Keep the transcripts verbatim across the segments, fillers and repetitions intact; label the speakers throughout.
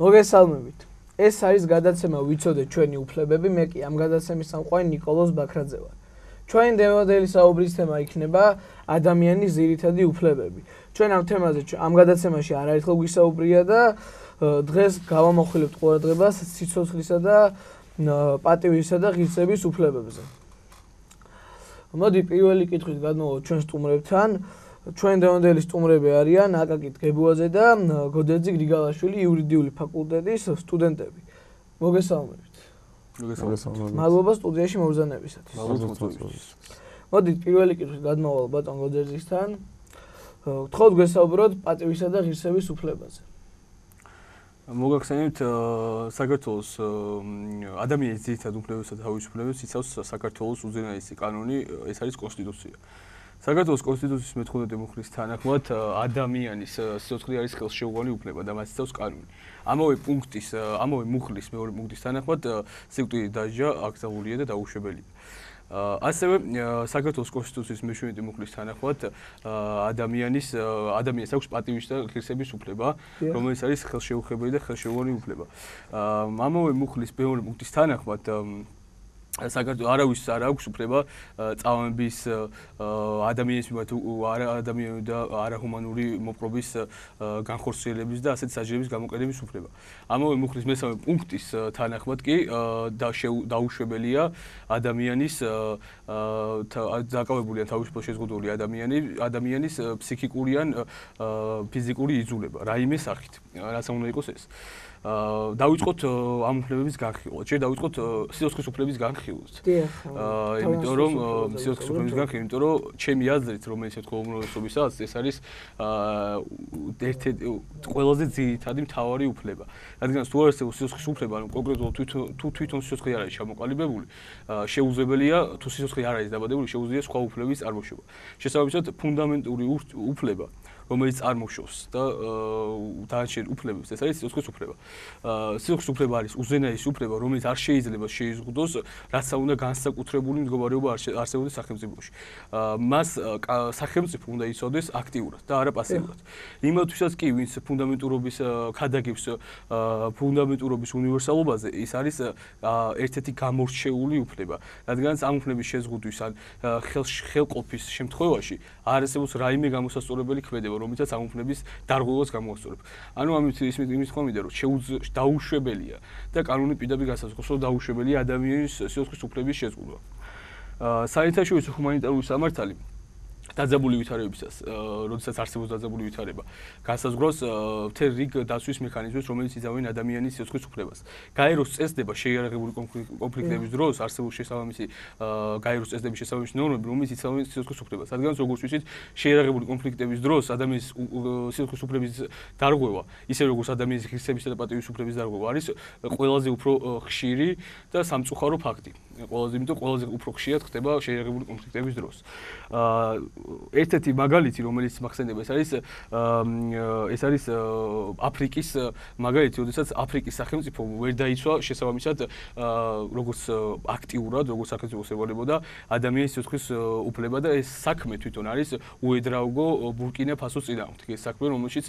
Speaker 1: მოგესალმებით. ეს არის გადაცემა ვიცოდეთ ჩვენი უფლებები, მე კი ამ გადაცემის სამყარო ნიკოლოზ ბაქრაძე ვარ. ჩვენი დემოდელი საუბრის თემა იქნება ადამიანის ძირითადი უფლებები. ჩვენ ამ თემაზე ამ გადაცემაში არაერთხელ გვისაუბრია და დღეს გავამოხვილებთ ყურადღებას სიცოცხლისა და პატივისა და ღირსების უფლებებზე. მოდი პირველი კითხვით გადმოვიდეთ ჩვენ სტუმრებთან. ჩვენ დემოდელი სტუმრები არიან აკაკი გებუაძე და გოდერძი გრიგალაშვილი იურიდიული ფაკულტეტის სტუდენტები. მოგესალმებით.
Speaker 2: მოგესალმებით.
Speaker 1: მადლობა სტუდიაში მობრძანებისათვის.
Speaker 2: მადლობა.
Speaker 1: მოდით პირველი კითხვით გადმოვალ ბატონ გოდერძისთან. გთხოვთ გვესაუბროთ პატივისა და ღირსების უფლებაზე.
Speaker 2: მოგახსენებთ საქართველოს ადამიანის ძირითად უფლებებსა და თავისუფლებებს იცავს საქართველოს უზენაესი კანონი, ეს არის კონსტიტუცია. საქართველოს კონსტიტუციის მეთხმეტე მუხლის თანახმად ადამიანის სიცოცხლე არის ხელშეუხებელი უფლება და მას იცავს კანონი. ამავე პუნქტის, ამავე მუხლის მეორე პუნქტის თანახმად სიკვდილით დასჯა აკრძალულია და დაუშვებელია. ასევე საქართველოს კონსტიტუციის მეშვიდმეტე მუხლის თანახმად ადამიანის ადამიანს აქვს პატივის და ღირსების უფლება, რომელიც არის ხელშეუხებელი და ხელშეუხებელი უფლება. ამავე მუხლის მეორე პუნქტის თანახმად საქართველოს არავის არ აქვს უფლება წამების ადამიანის მიმართ არაადამიანური და არაჰუმანური მოპყრობის განხორციელების და ასეთ საჯირების გამოყენების უფლება. ამავე მუხლის მესამე პუნქტის თანახმად კი დაუშვებელია ადამიანის დაკავებული ან თავისუფლად შეზღუდული ადამიანი ადამიანის ფსიქიკური ან ფიზიკური იძულება რაიმე სახით. რაც უნდა იყოს ეს. დავიწყოთ ამ უფლებების განხილვას. შეიძლება დავიწყოთ სიცოცხლის უფლების განხილვას. აა, იმიტომ რომ სიცოცხლის უფლების განხილვა, იმიტომ რომ ჩემი აზრით, რომელიც ეთქვა უმრავლესობისაც, ეს არის აა ერთ-ერთი ყველაზე ძირითადი მთავარი უფლება. რადგან თუ არ არსებობს სიცოცხლის უფლება, ანუ კონკრეტულად თვითონ თუ თვითონ სიცოცხლე არ არის ჩამოყალიბებული, შეუძლებელია თუ სიცოცხლე არ არის დაბადებული, შეუძლია სხვა უფლებების წარმოშობა. შესაბამისად, ფუნდამენტური უფლება რომელიც წარმოშობს და დანარჩენ უფლებებს, ეს არის სიცოცხლის უფლება. სიცოცხლის უფლება არის უზენაესი უფლება, რომელიც არ შეიძლება შეიზღუდოს, რაც უნდა განსაკუთრებული მდგომარეობა არსებობდეს სახელმწიფოში. მას სახელმწიფო უნდა იცოდეს აქტიურად და არა პასიურად. იმათვისაც კი, ვინც ფუნდამენტურობის ქადაგებს ფუნდამენტურობის უნივერსალობაზე, ის არის ერთ-ერთი გამორჩეული უფლება. რადგან ამ უფლების შეზღუდვის ან ხელყოფის შემთხვევაში არ არსებობს რაიმე გამოსასწორებელი ქმედება, რომელიცაც ამ უფლების დარღვევას გამოასწორებ. ანუ ამით იმის თქვა მინდა, რომ დაუშვებელია და კანონი პირდაპირ განსაზღვრავს, რომ დაუშვებელია ადამიანის სიცოცხლის უფლების შეზღუდვა. საერთაშორისო ჰუმანიტარული სამართალი დაძაბული ვითარებისას, როდესაც არსებობს დაძაბული ვითარება, განსაზღვრავს მთელ რიგ დაცვის მექანიზმებს, რომელიც იზამენ ადამიანის სიცოცხლის უფლებას. გაეროს წესდება შეიარაღებული კონფლიქტების დროს არსებობს შესაბამისი გაეროს წესდების შესაბამისი ნორმები, რომელიც იცავენ სიცოცხლის უფლებას. რადგან როგორც ვიცით, შეიარაღებული კონფლიქტების დროს ადამიანის სიცოცხლის უფლების დარღვევა, ისე როგორც ადამიანის ღირსებისა და პატივის უფლების დარღვევა არის ყველაზე უფრო ხშირი და სამწუხარო ფაქტი. ყველაზე, იმიტომ ყველაზე უფრო ხშირად ხდება შეიარაღებული კონფლიქტების დროს. ერთ-ერთი მაგალითი, რომელიც მახსენდება, ეს არის ეს არის აფრიკის მაგალითი, როდესაც აფრიკის სახელმწიფო ვერ დაიცვა შესაბამისად როგორც აქტიურად, როგორც სახელმწიფო ევალებოდა ადამიანის სიცოცხლის უფლება და ეს საქმე თვითონ არის უედრაუგო ბურკინა ფასოს წინააღმდეგ. ეს საქმე, რომელშიც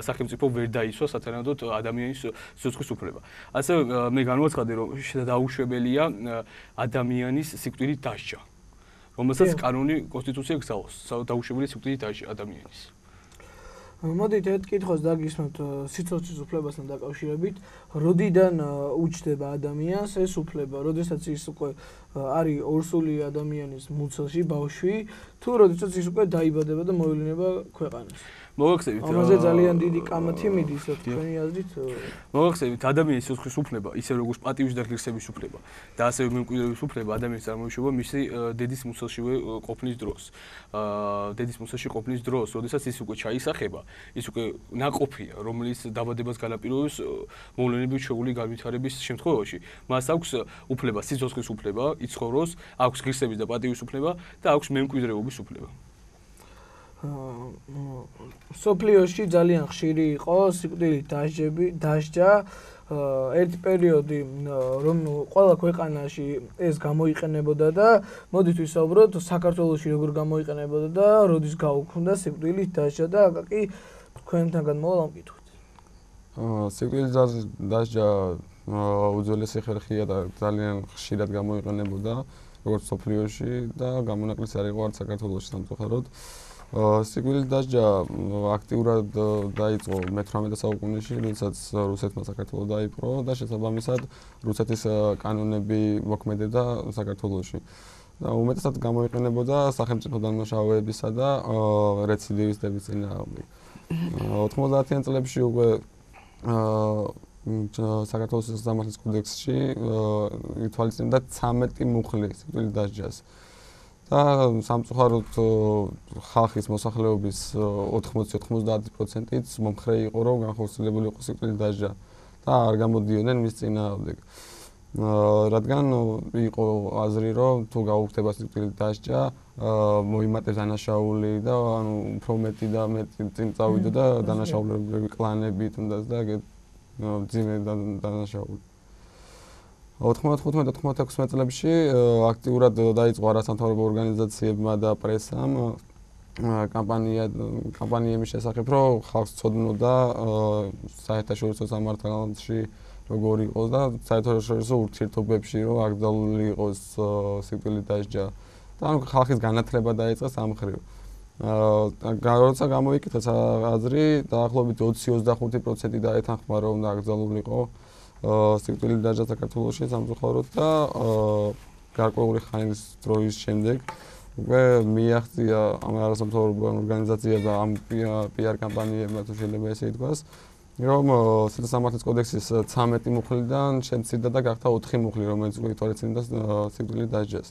Speaker 2: სახელმწიფო ვერ დაიცვა სათანადოდ ადამიანის სიცოცხლის უფლება. ასევე მე განვაცხადე, რომ დაუშვებელია ადამიანის სიკვდილით დასჯა. რომელსაც კანონი კონსტიტუცია გზავნოს, დაუშვებელი სიკვდილით დასჯა ადამიანის.
Speaker 1: მოდით ერთ კითხვას დაგისმოთ სიცოცხლის უფლებასთან დაკავშირებით. როდიდან უჩნდება ადამიანს ეს უფლება? როდესაც ის უკვე არის ორსული ადამიანის მუცელში, ბავშვი, თუ როდესაც ის უკვე დაიბადება და მოევლინება ქვეყანას?
Speaker 2: მოგახსენებთ,
Speaker 1: ამაზე ძალიან დიდი კამათი მიდის, თქვენი აზრით?
Speaker 2: მოგახსენებთ, ადამიანის სიცოცხლის უფლება, ისე როგორც პატივის და ღირსების უფლება და ასევე მემკვიდრეობის უფლება ადამიანის წარმოშობა მისი დედის მუცელშივე ყოფნის დროს. დედის მუცელში ყოფნის დროს, როდესაც ის უკვე ჩაისახება, ის უკვე ნაყოფია, რომელიც დაბადებას განაპირობებს მოვლენების ჩვეული განვითარების შემთხვევაში. მას აქვს უფლება, სიცოცხლის უფლება, იცხოვროს, აქვს ღირსების და პატივის უფლება და აქვს მემკვიდრეობის უფლება.
Speaker 1: სოფლიოში ძალიან ხშირი იყო სიკვდილით დასჯა. ერთი პერიოდი, რომ ყველა ქვეყანაში ეს გამოიყენებოდა და მოდით ვისაუბროთ საქართველოში როგორ გამოიყენებოდა და როდის გაუქმდა სიკვდილით დასჯა და აკაკი თქვენთან გადმოვალ ამ კითხვით.
Speaker 3: სიკვდილის დასჯა უძველესი ხერხია და ძალიან ხშირად გამოიყენებოდა როგორც სოფლიოში და გამონაკლისი არ იყო არც საქართველოში სამწუხაროდ. სიკვდილის დასჯა აქტიურად დაიწყო მეთვრამეტე საუკუნეში, როდესაც რუსეთმა საქართველო დაიპყრო და შესაბამისად რუსეთის კანონები მოქმედებდა საქართველოში. და უმეტესად გამოიყენებოდა სახელმწიფო დამნაშავეებისა და რეციდივისტების წინააღმდეგ. ოთხმოცდაათიან წლებში უკვე საქართველოს სასამართლოს კოდექსში ითვალისწინებდა ცამეტი მუხლი სიკვდილის დასჯას. და სამწუხაროდ ხალხის მოსახლეობის ოთხმოცი ოცდაათი პროცენტიც მომხრე იყო, რომ განხორციელებული იყო სიკვდილის დასჯა და არ გამოდიოდნენ მის წინააღმდეგ. რადგან იყო აზრი, რომ თუ გაუხდება სიკვდილის დასჯა, მოიმატებს დანაშაული და ანუ უფრო მეტი და მეტი წინ წავიდა და დანაშაულებრივი კლანები თუნდაც და ძიმე დანაშაული. ოთხმოცდახუთმეტ ოთხმოცდაექვსმეტ წლებში აქტიურად დაიწყო არასამთავრობო ორგანიზაციებმა და პრესამ კამპანია კამპანიების შესახებ, რომ ხალხს ცოდნოდა საერთაშორისო სამართალში როგორ იყოს და საერთაშორისო ურთიერთობებში რომ აკრძალული იყოს სიკვდილის დასჯა და ანუ ხალხის განათლება დაიწყეს ამ მხრივ. აა როცა გამოიკითხა აზრი, დაახლოებით ოცი ოცდახუთი პროცენტი დაეთანხმა რომ აკრძალულიყო სიკვდილის დასჯა საქართველოში სამწუხაროდ და გარკვეული ხანის დროის შემდეგ უკვე მიაღწია ამ არასამთავრობო ორგანიზაციებმა ამ პიარ კამპანიებმა თუ შეიძლება ესე ითქვას, რომ სასამართლოს კოდექსის ცამეტი მუხლიდან შემცირდა და გახდა ოთხი მუხლი, რომელიც უკვე ითვალისწინებდა სიკვდილის დასჯას.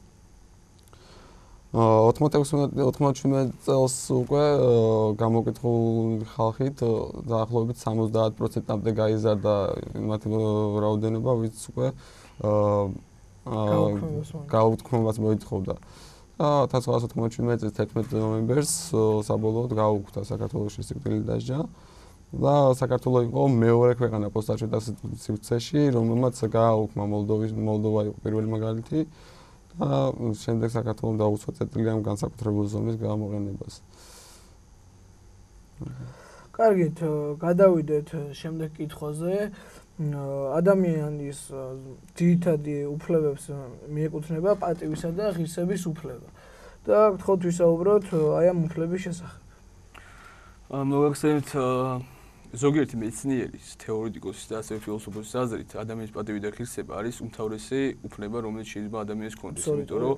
Speaker 3: ოთხმოცდაშვიდ წელს უკვე გამოკითხული ხალხით დაახლოებით სამოცდაათ პროცენტამდე გაიზარდა მათი რაოდენობა, ვინც უკვე გაუთქმობას მოითხოვდა. და ათას ცხრაასი ოთხმოცდაშვიდ წლის თერთმეტი ნოემბერს საბოლოოდ გაუქმდა საქართველოში სიკვდილის დასჯა. და საქართველო იყო მეორე ქვეყანა პოსტსტარჩეთა სივრცეში, რომელმაც გააუქმა მოლდოვის მოლდოვა იყო პირველი მაგალითი და შემდეგ საქართველოს დაუწყო წერტილი ამ განსაკუთრებული ზომის გამოყენებას.
Speaker 1: კარგით, გადავიდეთ შემდეგ კითხვაზე. ადამიანის ძირითადი უფლებებს მიეკუთვნება პატივისა და ღირსების უფლება. და გთხოვთ ვისაუბროთ აი ამ უფლების შესახებ.
Speaker 2: მოგახსენებთ ზოგიერთი მეცნიერის, თეორეტიკოსის და ასევე ფილოსოფოსის აზრით, ადამიანის პატივი და ღირსება არის უმთავრესი უფლება, რომელიც შეიძლება ადამიანს ჰქონდეს, იმიტომ რომ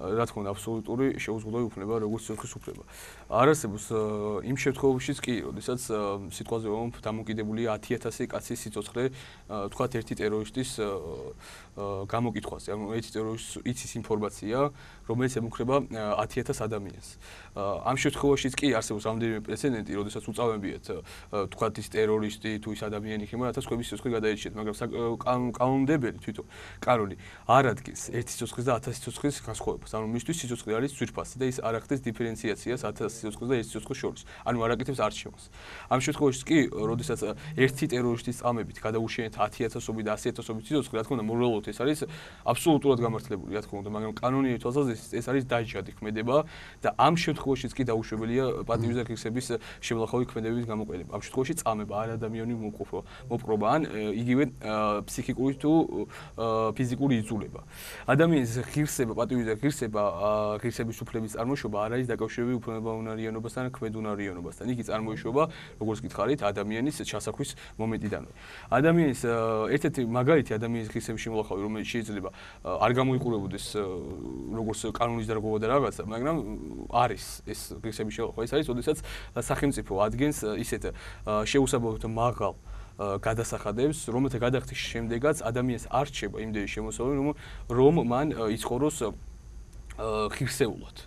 Speaker 2: რა თქმა უნდა, აბსოლუტური შეუზღუდავი უფლება, როგორც სიცოცხლის უფლება. არ არსებობს იმ შემთხვევაშიც კი, როდესაც სიტყვაზე რომ დამოკიდებულია ათი ათასი კაცის სიცოცხლე, თქვათ ერთი ტერორისტის გამოკითხვაზე. ანუ ერთი ტერორისტი იცის ინფორმაცია, რომელიც ემუქრება ათი ათას ადამიანს. ამ შემთხვევაშიც კი არსებობს რამდენიმე პრეცედენტი, როდესაც უწავებიათ თქვათ ის ტერორისტი თუ ის ადამიანი ხება, რათა სხვების სიცოცხლე გადაეჭიათ, მაგრამ კანონმდებელი თვითონ კანონი არ ადგენს ერთი სიცოცხლის და ათასი სიცოცხლის განსხვავებას. ანუ მისთვის სიცოცხლე არის ძვირფასი და ის არ ახდენს დიფერენციაციას ათასი სიცოცხლის და ერთი სიცოცხლის შორის. ანუ არ აკეთებს არჩევანს. ამ შემთხვევაშიც კი, როდესაც ერთი ტერორისტის წამებით გადაუშენეთ ათი ათასობით და ასი ათასობით სიცოცხლე, რა თქმა უნდა, მორალურად ეს არის აბსოლუტურად გამართლებული, რა თქმა უნდა, მაგრამ კანონიერი თვალსაზრისით ეს არის დაჯადი ქმედება და ამ შემთხვევაშიც კი დაუშვებელია პატივის და ღირსების შემლახავი ქმედების გამოყენება. ამ შემთხვევაში წამება არ ადამიანური მოპყრობა ან იგივე ფსიქიკური თუ ფიზიკური იზოლება. ადამიანის ღირსება, პატივი და ღირსება, ღირსების უფლების წარმოშობა არ არის დაკავშირებული უფლებაუნარიანობასთან, ქმედუნარიანობასთან. იგი წარმოიშობა, როგორც გითხარით, ადამიანის ჩასახვის მომენტიდანვე. ადამიანის ერთ-ერთი მაგალითი ადამიანის ღირსების შემლახავი, რომელიც შეიძლება არ გამოიყურებოდეს როგორც კანონის დარღვევა და რაღაცა, მაგრამ არის ეს ღირსების შემლახავი. ეს არის, როდესაც სახელმწიფო ადგენს ისეთ შეუსაბამოდ მაღალ გადასახადებს, რომელთა გადახდის შემდეგაც ადამიანს არ რჩება იმდენი შემოსავალი, რომ რომ მან იცხოვროს ღირსეულად.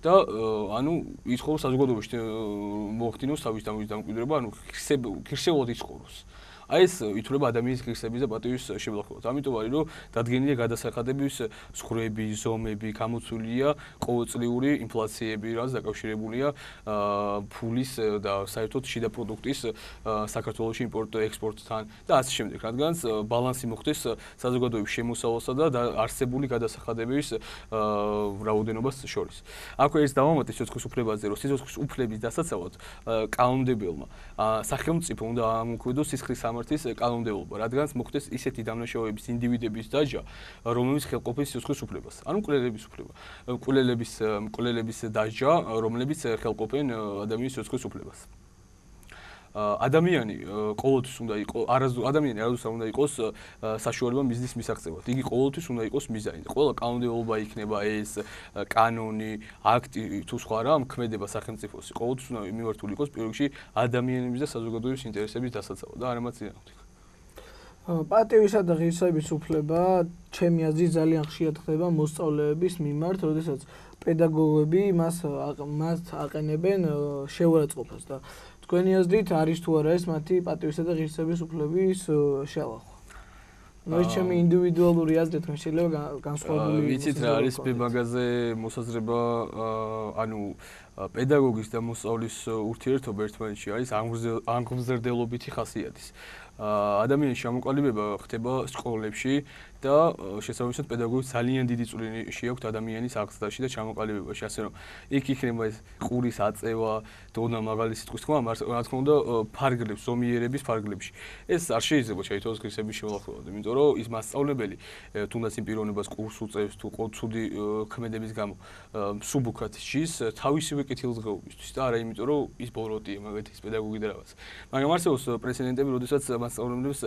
Speaker 2: და ანუ იცხოვროს საზოგადოებაში მოახდინოს თავის დამკვიდრება, ანუ ღირსეულად იცხოვროს. აი ეს ითვლება ადამიანის ღირსების და პატივის შემოხილვად. ამიტომ არის რომ დადგენილია გადასახადების ზღვრები, ზომები, გამოცულია ყოველწლიური ინფლაციები, რაც დაკავშირებულია ფულის და საერთოდ შიდა პროდუქტის საქართველოში იმპორტ-ექსპორტთან და ასე შემდეგ, რადგანაც ბალანსი მოხდეს საზოგადოების შემოსავალსა და არსებული გადასახადების რაოდენობას შორის. აქვე ეს დავამატე სიცოცხლის უფლებაზე, რომ სიცოცხლის უფლების დასაცავად კანონმდებელმა სახელმწიფო უნდა ამოქმედოს სისხლის სამართლის კანონმდებლობა, რადგანაც მოხდეს ისეთი დამნაშავეების ინდივიდების დაჯა, რომლებიც ხელყოფენ სიცოცხლის უფლებას. ანუ მკვლელების უფლება, მკვლელების მკვლელების დაჯა, რომლებიც ხელყოფენ ადამიანის სიცოცხლის უფლებას. ადამიანი ყოველთვის უნდა იყოს არასდროს ადამიანი არასდროს უნდა იყოს საშუალება მიზნის მისაღწევად. იგი ყოველთვის უნდა იყოს მიზანი. ყველა კანონმდებლობა იქნება ეს კანონი, აქტი თუ სხვა რამ ქმედება სახელმწიფოსი. ყოველთვის უნდა მიმართული იყოს პირველ რიგში ადამიანების და საზოგადოების ინტერესების დასაცავად და არამაც წინააღმდეგ.
Speaker 1: პატივისა და ღირსების უფლება, ჩემი აზრით, ძალიან ხშირად ხდება მოსწავლეების მიმართ, როდესაც პედაგოგები მას მას აყენებენ შეურაცხყოფას და თქვენი აზრით არის თუ არა ეს მათი პატივისა და ღირსების უფლების შეალახვა? ნუ ეს ჩემი ინდივიდუალური აზრით, რომ შეიძლება განსხვავებული
Speaker 2: იყოს. ვიცით რა არის მაგაზე მოსაზრება, ანუ პედაგოგის და მოსწავლის ურთიერთობა ერთმანეთში არის აღმზრდელობითი ხასიათის. ადამიანის ჩამოყალიბება ხდება სკოლებში და შესაბამისად პედაგოგებს ძალიან დიდი წვლილი შეაქვთ ადამიანის აღზრდაში და ჩამოყალიბებაში, ასე რომ იქ იქნება ეს ყურის აწევა, დონა მაღალი სიტყვის თქმა, რა თქმა უნდა, ფარგლებს, ზომიერების ფარგლებში. ეს არ შეიძლება შეიცვალოს ღირსების შემოხილვად, იმიტომ რომ ის მასწავლებელი თუნდაც იმ პიროვნებას კურსს უწევს თუ ყოთსუდი ქმედების გამო მსუბუქად ჯის თავისივე კეთილდღეობისთვის და არა იმიტომ რომ ის ბოროტია მაგათ ის პედაგოგი და რაღაც. მაგრამ არსებობს პრეცედენტები, როდესაც მასწავლებლებს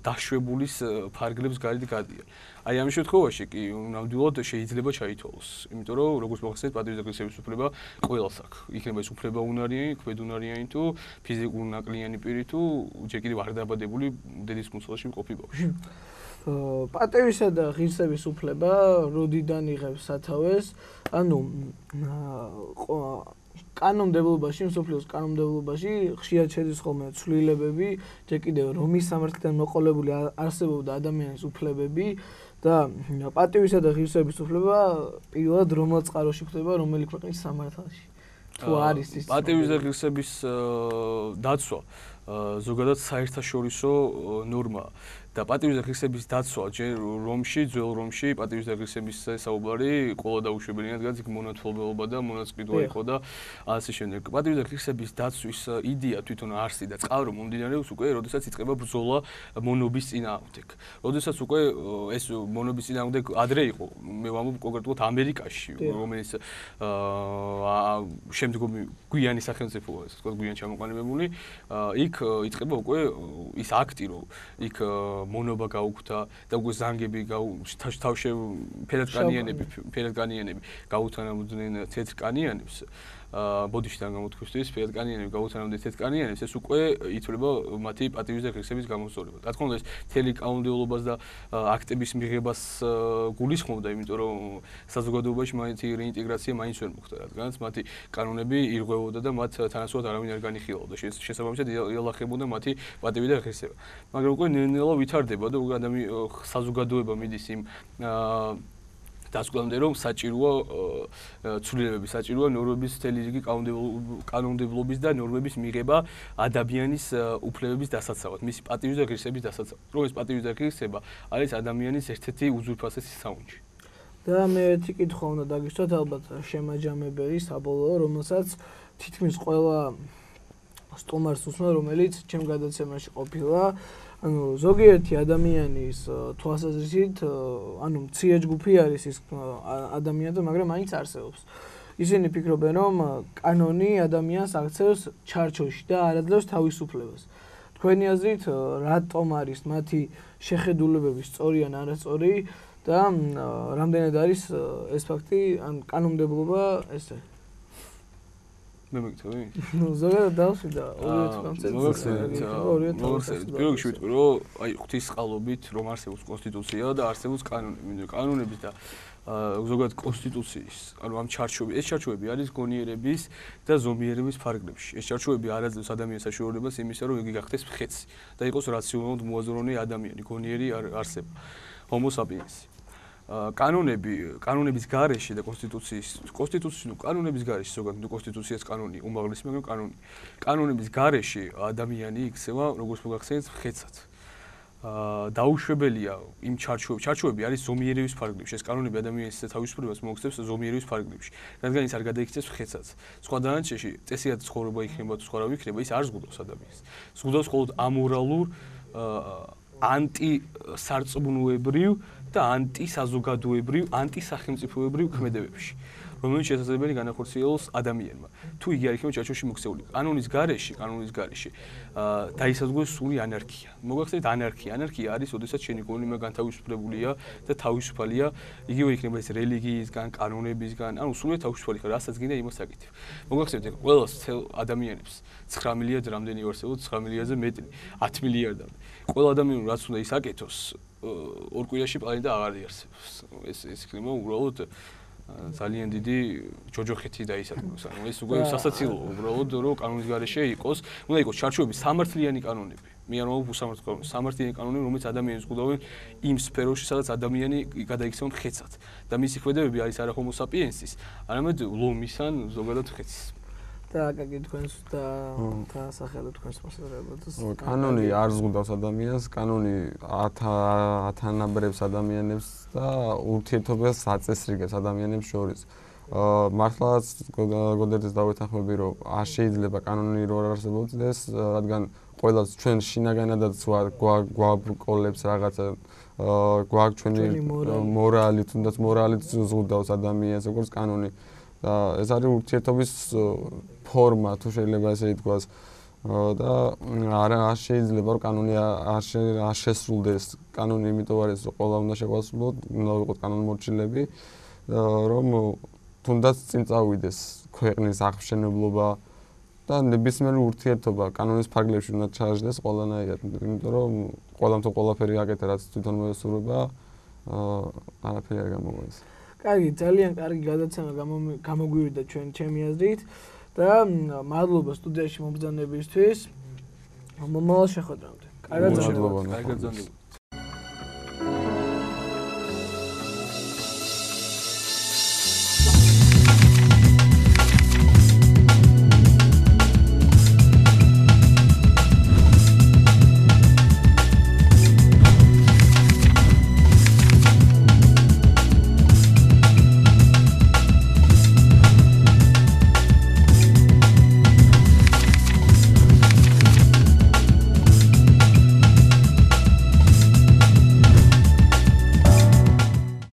Speaker 2: დაშვებულის ფარგლებს გარეთ გადიან. აი ამ შემთხვევაში კი ნამდვილად შეიძლება ჩაითვალოს, იმიტომ რომ როგორც მოხსენეთ, პატივის და ღირსების უფლება ყველას აქვს. იქნება ეს უფლება უნარიანი, ქვედუნარიანი თუ ფიზიკური ნაკლიანი პირი თუ ჯერ კიდევ არ დაბადებული დედის მუცელში მყოფი ბავშვი.
Speaker 1: პატივისა და ღირსების უფლება როდიდან იღებს სათავეს? ანუ კანონმდებლობაში, მსოფლიოს კანონმდებლობაში ხშირად შედის ხოლმე ცვლილებები, ჯერ კიდევ რომის სამართლიდან მოყოლებული არსებობდა ადამიანის უფლებები და პატივისა და ღირსების უფლება პირველად რომელ წყაროში ხდება, რომელი ქვეყნის სამართალში? თუ არის ის
Speaker 2: პატივის და ღირსების დაცვა ზოგადად საერთაშორისო ნორმაა. და პატივის და ღირსების დაცვა ჯერ რომში, ძველ რომში პატივის და ღირსების საუბარი ყველა დაუშვებელია, რადგან იქ მონათვალებობა და მონაწყვეტობა იყო და ასე შემდეგ. პატივის და ღირსების დაცვის იდეა თვითონ არსი და წყარო მომდინარეობს უკვე, როდესაც იწყება ბრძოლა მონობის წინააღმდეგ. როდესაც უკვე ეს მონობის წინააღმდეგ ადრე იყო, მე ვამბობ კონკრეტულად ამერიკაში, რომელიც შემდგომი გვიანი სახელმწიფოა, ასე ვთქვათ, გვიან ჩამოყალიბებული, იქ იწყება უკვე ის აქტი, რომ იქ მონობა გაუქმდა და უკვე ზანგები თავშე ფერადკანიანები ფერადკანიანები გაუთანამდნენ თეთრკანიანებს ბოდიშიდან გამოთქვისთვის ფერადკანიანები გაუთანამდნენ თეთრკანიანებს ეს უკვე ითვლება მათი პატივის და ღირსების გამოსწორება. რა თქმა უნდა ეს მთელი კანონმდებლობას და აქტების მიღებას გულისხმობდა, იმიტომ რომ საზოგადოებაში მათი რეინტეგრაცია მაინც ვერ მოხდა, რადგანაც მათი კანონები ირღვევოდა და მათ თანასწორად არავინ არ განიხილავდა. შესაბამისად იალახებოდა მათი პატივი და ღირსება. მაგრამ უკვე ნელ-ნელა ვითარდება და უკვე ადამიანი საზოგადოება მიდის იმ დასკვნამდე რომ საჭიროა ცვლილებები, საჭიროა ნორმების მთელი რიგი კანონმდებლობის და ნორმების მიღება ადამიანის უფლებების დასაცავად, მისი პატივის და ღირსების დასაცავად. რომ ეს პატივის და ღირსება არის ადამიანის ერთ-ერთი უზურპასესი საუნჯი.
Speaker 1: და მე ერთი კითხვა უნდა დაგისვათ, ალბათ შემაჯამებელი საბოლოო, რომელსაც თითქმის ყველა სტუმარს უსმენ, რომელიც ჩემ გადაცემაში ყოფილა. ანუ ზოგიერთი ადამიანის თვალსაზრისით, ანუ მცირე ჯგუფი არის ის ადამიანები, მაგრამ მაინც არსებობს. ისინი ფიქრობენ, რომ კანონი ადამიანს აქცევს ჩარჩოში და არ აძლევს თავისუფლებას. თქვენი აზრით, რატომ არის მათი შეხედულებები სწორი ან არასწორი და რამდენად არის ეს ფაქტი, ან კანონმდებლობა ესე?
Speaker 2: მე მეკითხები?
Speaker 1: ნუ ზოგადად დავსვიდა ორივე კონცეფცია.
Speaker 2: მოგხსენეთ, პირველ რიგში ვიტყვი, რომ აი ღვთის წყალობით რომ არსებობს კონსტიტუცია და არსებობს კანონები, მინდა კანონების და ზოგადად კონსტიტუციის, ანუ ამ ჩარჩოები, ეს ჩარჩოები არის გონიერების და ზომიერების ფარგლებში. ეს ჩარჩოები არ აძლევს ადამიანის საშუალებას იმისა, რომ იგი გახდეს მხეცი და იყოს რაციონალურად მოაზროვნე ადამიანი, გონიერი არსება, ჰომო საპიენსი. კანონები, კანონების გარეშე და კონსტიტუციის, კონსტიტუციის, ნუ კანონების გარეშე, ზოგადად ნუ კონსტიტუციას კანონი უმაღლესი, მაგრამ კანონი. კანონების გარეშე ადამიანი იქცევა, როგორც მოგახსენეთ, მხეცად. აა დაუშვებელია იმ ჩარჩოები. ჩარჩოები არის ზომიერების ფარგლებში. ეს კანონები ადამიანის თავისუფლებას მოუხდებს ზომიერების ფარგლებში. რადგან ის არ გადაიქცევს მხეცად. სხვა დანარჩენში წესიათ ცხოვრება იქნება თუ სხვა რა იქნება, ის არ ზღუდავს ადამიანს. ზღუდავს მხოლოდ ამორალურ, ანტისარწმუნოებრივ და ანტისაზოგადოებრივ, ანტისახელმწიფოებრივ ქმედებებში, რომელიც შესაძლებელი განახორციელოს ადამიანმა. თუ იგი არ იქნება ჩარჩოში მოქცეული. კანონის გარეშე, კანონის გარეშე აა დაისაზღვროს სული ანარქია. მოგახსენეთ ანარქია. ანარქია არის, ოდესაც შენი გონება განთავისუფლებულია და თავისუფალია, იგივე იქნება ეს რელიგიისგან, კანონებისგან, ანუ სულ თავისუფალი ხარ, რასაც გინდა იმას აკეთებ. მოგახსენეთ, ეგ ყველა ადამიანებს ცხრა მილიარდ რამდენი არსებობს, ცხრა მილიარდზე მეტი, ათი მილიარდამდე. ყველა ადამიანს რაც უნდა ის აკეთოს, ორ კვირაში პლანეტა აღარ იარსებობს. ეს ეს იქნება უბრალოდ ძალიან დიდი ჯოჯოხეთი დაისადგოს. ანუ ეს უკვე სასაცილოა უბრალოდ რომ კანონის გარეშე იყოს, უნდა იყოს ჩარჩოები სამართლიანი კანონები. მე არ მომავალ უსამართლო კანონები, სამართლიანი კანონები, რომელიც ადამიანს ზღუდავენ იმ სფეროში, სადაც ადამიანი გადაიქცევა მხეცად და მისი ქმედებები არის არა ჰომო საპიენსის, არამედ ლომის ან ზოგადად მხეცის.
Speaker 1: და აკაკი თქვენს და დასახელეთ თქვენს მოსაზრებებს.
Speaker 3: კანონი არ ზღუდავს ადამიანს, კანონი ათანაბრებს ადამიანებს და ურთიერთობას აწესრიგებს ადამიანებს შორის. მართლაც გოდერძეს დავეთანხმები, რომ არ შეიძლება კანონი რო არ არსებობდეს, რადგან ყველას ჩვენ შინაგანადაც გვაბრკოლებს რაღაცა გვაქვს ჩვენი მორალი, თუნდაც მორალიც ზღუდავს ადამიანს, როგორც კანონი. და ეს არის ურთიერთობის ფორმა, თუ შეიძლება ესე ითქვას. და არ შეიძლება რომ კანონი არ შესრულდეს. კანონი იმიტომ არის, რომ ყველა უნდა შეგვასრულოთ, უნდა ვიყოთ კანონმორჩილები, რომ თუნდაც წინ წავიდეს ქვეყნის აღმშენებლობა და ნებისმიერი ურთიერთობა კანონის ფარგლებში უნდა ჩააჯდეს ყველანაირად, იმიტომ რომ ყველამ თუ ყველაფერი აკეთე, რაც თვითონ მოესურვება, არაფერი არ გამოგვიეს.
Speaker 1: კარგი, ძალიან კარგი გადაცემა გამოგვივიდა ჩვენ ჩემი აზრით და მადლობა სტუდიაში მომბრძანებისთვის. მომავალ შეხვედრამდე. კარგად
Speaker 3: მადლობა.
Speaker 2: კარგად გრძნობთ.